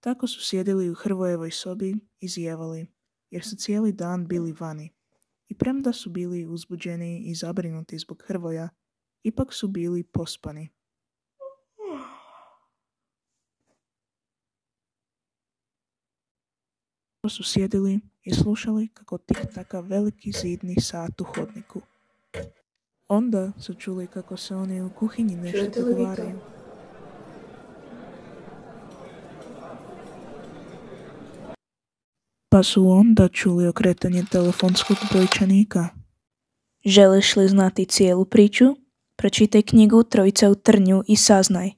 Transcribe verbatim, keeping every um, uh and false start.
Tako su sjedili u Hrvojevoj sobi i zijevali, jer su cijeli dan bili vani. I premda su bili uzbuđeni i zabrinuti zbog Hrvoja, ipak su bili pospani. Tako su sjedili i slušali kako tik-taka veliki zidni sat u hodniku. Onda su čuli kako se oni u kuhinji nešto dogovaraju. Pa su onda čuli okretanje telefonskog brojčanika. Želiš li znati cijelu priču? Pročitaj knjigu Trojica u trnju i saznaj.